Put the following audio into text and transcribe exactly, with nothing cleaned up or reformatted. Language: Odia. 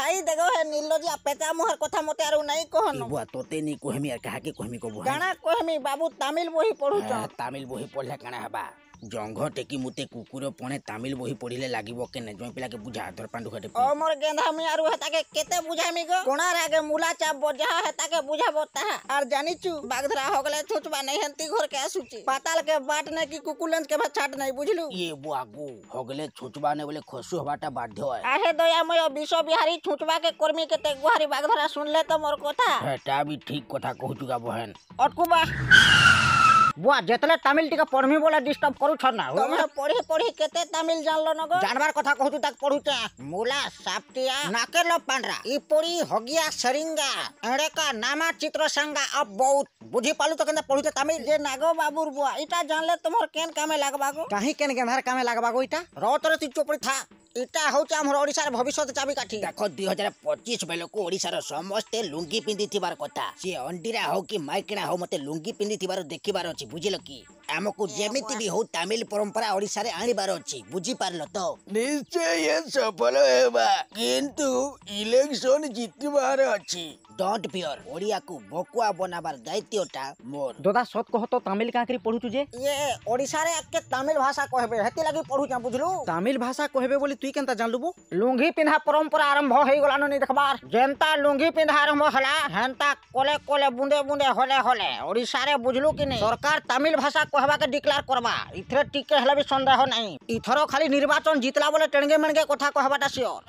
ହାଇ ଦେଖ ହେ ନିର୍ଲଜିଆ ପେଚା ମୁହଁର କଥା ମତେ ଆରୁ ନାଇଁ କହନ। ବୁଆ, ତୋତେ ନି କହେମି ଆର୍ କାହାକେ କହେମି କବୁ? କାଣା କହେମି ବାବୁ, ତାମିଲ ବହି ପଢୁଛ। ତାମିଲ ବହି ପଢିଲେ କାଣା ହେବା? ଜଙ୍ଘ ଟେକି ମୁତେ କୁକୁର ପଣେ ତାମିଲ ବହି ପଢିଲେ ଲାଗିବ କେନେ? ଜଇଁ ପିଲାକେ ବୁଝା ଧର ପାଣ୍ଡୁ ଖାଟେ। ଓ ମୋର ଗେନ୍ଧା, ମୁଇଁ ଆରୁ ହେତାକେ କେତେ ବୁଝାମି ଗୋ? କୋଣାରେ ଆଗେ ମୂଲା ଚାପବ, ଯାହା ହେତାକେ ବୁଝାବ ତାହା। ଆର୍ ଜାନିଛୁ, ବାଗଧରା ହଗଲେ ଛୁଚବା ନାଇଁ ହେନ୍ତି ଘରକେ ଆସୁଛି। ପାତାଲ କେ ବାଟ ନାଇଁ କି କୁକୁଲେନ୍ସ କେ ଛାଟ ନାଇଁ, ବୁଝିଲୁ? ଇଏ ବୁଆଗୁ, ହଗଲେ ଛୁଚବା ନାଇଁ ବୋଲେ ଖସୁ ହବାଟା ବାଧ୍ୟ। ଆହେ ଦୟାମୟ ବିଷ ବିହାରୀ, ଛୁଚବା କେ କର୍ମି କେତେ ଗୁହାରି। ବାଗଧରା, ଶୁନଲେ ତ ମୋର କଥା? ହେଟା ବି ଠିକ କଥା କହୁଛୁ ଗା ବହେନ। ଅଟକୁବା ବୁଆ, ଯେତେବେଳେ ତାମିଲ ଟିକେ ପଢମି ବୋଲେ ଡିଷ୍ଟର୍ବ କରୁଛ ନା। ତମେ ପଢି ପଢି କେତେ ତାମିଲ ଜାନଲ ନ ଗୋ? ଜାଣବାର କଥା କହୁଛୁ, ତାକୁ ପଢୁଛେ। ମୁଲା ସାପ୍ଟିଆ ନାକେଲ ପାଣ୍ଡ୍ରା ଇପୋଡ଼ି ହଗିଆ ସେରିଙ୍ଗା ଏଡ଼େକା ନାମା ଚିତ୍ର ସାଙ୍ଗା ଅଫ ବହୁତ। ବୁଝି ପାଲୁ ତ କେନ୍ତା ପଢୁଛେ ତାମିଲ? ଯେ ନାଗ ବାବୁର ବୁଆ, ଇଟା ଜାନଲେ ତମର କେନ୍ କାମେ ଲାଗବା ଗୋ? କାହିଁ କେନ୍ ଗେନ୍ଧାର କାମେ ଲାଗବା ଗୋ ଇଟା? ରତରେ ତୁଇ ଚୁପଡ଼ି ଥା। ଇଟା ହଉଛି ଆମର ଓଡିଶାର ଭବିଷ୍ୟତ ଚାବିକାଠି। ଦେଖ, ଦୁଇ ହଜାର ପଚିଶ ବେଳକୁ ଓଡିଶାର ସମସ୍ତେ ଲୁଙ୍ଗି ପିନ୍ଧିଥିବାର କଥା। ସିଏ ଅଣ୍ଡିରା ହଉ କି ମାଇକିଣା ହଉ, ମତେ ଲୁଙ୍ଗି ପିନ୍ଧିଥିବାର ଦେଖିବାର ଅଛି, ବୁଝିଲ କି? ଆମକୁ ଯେମିତି ବି ହଉ ତାମିଲ ପରମ୍ପରା ଓଡିଶାରେ ଆଣିବାର ଅଛି, ବୁଝିପାରିଲ ତ? ନିଶ୍ଚୟ ସଫଳ ହେବା, କିନ୍ତୁ ଇଲେକ୍ସନ ଜିତିବାର ଅଛି। Don't fear, ଓଡିଆକୁ ଭକୁଆ ବନାବାର ଦାୟିତ୍ୱଟା ମୋର। ଦାଦା, ସତ କହ ତ, ତାମିଲ କାଁ କରି ପଢୁଛୁ ଯେ? ଇଏ ଓଡିଶାରେ ଆଗକେ ତାମିଲ ଭାଷା କହିବେ, ହେତି ଲାଗି ପଢୁଛେ, ବୁଝଲୁ? ତାମିଲ ଭାଷା କହିବେ ବୋଲି ତୁଇ କେନ୍ତା ଜାନଲୁ ବୋ? ଲୁଙ୍ଗି ପିନ୍ଧା ପରମ୍ପରା ଆରମ୍ଭ ହେଇଗଲାନ ନି ଦେଖବାର। ଯେନ୍ତା ଲୁଙ୍ଗି ପିନ୍ଧା ଆରମ୍ଭ ହେଲା, ହେନ୍ତା କଲେ କଲେ ବୁନ୍ଦେ ବୁନ୍ଦେ ହଲେ ହଲେ ଓଡିଶାରେ, ବୁଝଲୁ କି ନି, ସରକାର ତାମିଲ ଭାଷା କହିବାକେ ଡିକ୍ଲାର କରବା, ଇଥରେ ଟିକେ ହେଲେ ବି ସନ୍ଦେହ ନାହିଁ। ଇଥର ଖାଲି ନିର୍ବାଚନ ଜିତଲା ବୋଲେ ଟେଣଗେ ମେଣଗେ କଥା କହିବାଟା ସିଓର।